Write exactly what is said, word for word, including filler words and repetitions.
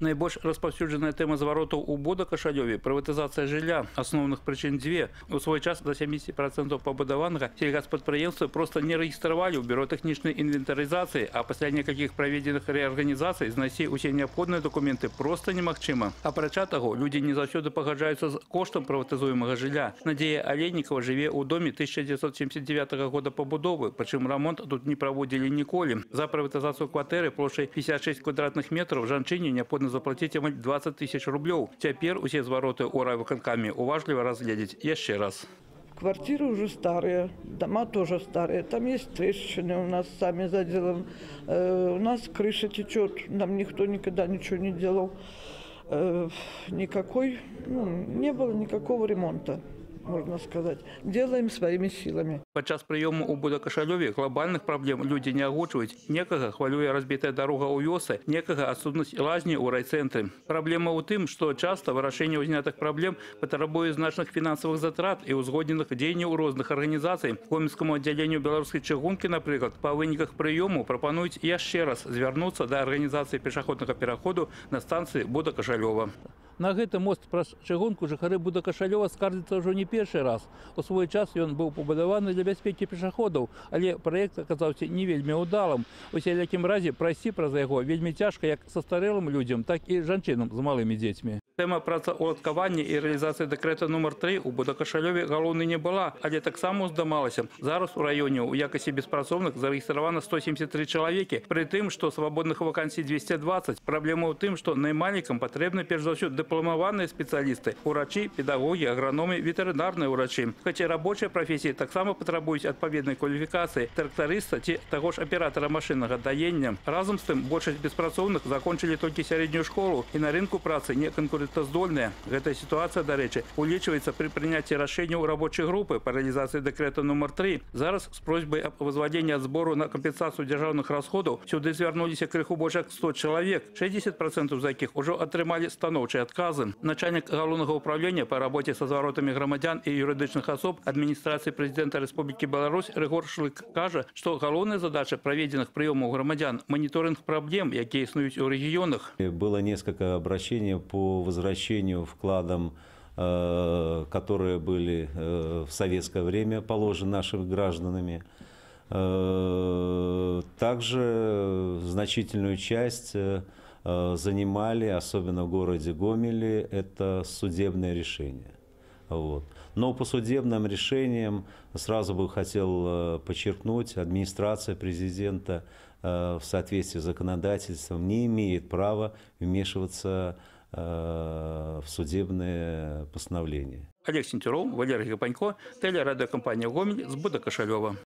Найбольш распаўсюджаная тэма зваротаў у Бода-Кашалёве – прыватызацыя жылля. Асноўных прычын дзве. У свой час до сямидесяти процентов пабудаванага сельгаспрадпрыемствы просто не рэгістравалі ў бюро тэхнічнай інвентарызацыі, а пасля некалькіх праведзеных рэарганізацый знайсці ўсе неабходныя дакументы просто немагчыма. Апрача таго, людзі не заўсёды пагаджаюцца з коштам прыватызуемага жылля. Надзея Алейнікава жыве ў доме тысяча девятьсот семьдесят девятого года пабудовы, прычым рамонт тут не праводзілі ніколі. За прыватызацыю кватэры плошчай пятьдесят шесть квадратных метров жанчыне неабходна заплатить амаль двадцать тысяч рублёў. Цяпер усе звароты ў райвыканкаме уважліва разгледзець яшчэ раз. Квартиры уже старые, дома тоже старые. Там есть трещины у нас сами заделаем. Э, у нас крыша течет, нам никто никогда ничего не делал. Э, никакой, ну, не было никакого ремонта, можно сказать. Делаем своими силами. Падчас прыёму ў Бода-Кашалёве глобальных праблем людзі не агучваюць. Некага хвалюе разбітая дарога ў вёсы, некага адсутнасць лазні ў райцэнтры. Праблема ў тым, што часта вырашэнне ўзнятых праблем патрабуе значных фінансавых затрат і ўзгодненых дзеянняў розных арганізацый. Гомельскаму аддзяленню беларускай чыгункі, напрыклад, па выніках прыёму прапануюць яшчэ раз звярнуцца да арганізацыі пешаходнага пераходу на станцыі Бода-Кашалёва. На гэты мост праз чыгунку жыхары Бода-Кашалёва скардзяцца ўжо не першы раз. У свой час ён быў пабудаваны для бяспекі пешаходаў, але праект аказаўся не вельмі ўдалым. У сялякім разе прайсці праз яго вельмі цяжка як састарэлым людзям, так і жанчынам з малымі дзецьмі. Тэма працаўладкавання і рэалізацыі дэкрэта нумар тры ў Бода-Кашалёве галоўнай не была, але таксама ўздымалася. Зараз у раёне ў якасці беспрацоўных зарэгістравана сто семьдесят три чалавекі, пры тым, што свабодных вакансій двести двадцать. Праблема ў тым, што наймальнікам патрэбны перш за ўсё дыпламаваныя спецыялісты, урачы, педагогі, аграномы, ветэрынарныя ўрачы. Хаця рабочыя прафесіі таксама патрабуюць адпаведнай кваліфікацыі трактарыста ці таго ж аператара машыннага даення. Разам з тым, большасць беспрацоўных закончылі толькі сярэднюю школу і на рынку працы не конкурентаздольная. Гэтая сітуацыя, дарэчы, улічваецца пры прыняцці рашэнняў рабочай групы па рэалізацыі дэкрэта нумар тры. Зараз з просьбай аб возвадзенні ад збору на кампенсацыю дзяржаўных расходаў сюды звярнуліся крыху больш як сто чалавек, шестьдесят процентов з якіх ужо атрымалі станоўчыя адказы. Начальнік галоўнага ўправлення па рабоце са зваротамі грамадзян і юрыдычных асоб адміністрацыі прэзідэнта Рэспублікі Беларусь Рыгор Шлык кажа, што галоўная задача праведзеных прыёмаў грамадзян – моніторинг праблем, якія існуюць у рэгіёнах. Было несколько обращений по возвращению вкладам, которые были в советское время положены нашими гражданами. Также значительную часть занимали, особенно в городе Гомеле, это судебное решение. Вот. Но по судебным решениям сразу бы хотел подчеркнуть, администрация президента в соответствии с законодательством не имеет права вмешиваться в судебные постановления. Олег Сентюров, Валерий Гапанько, телерадиокомпания «Гомель» с Бода-Кашалёва.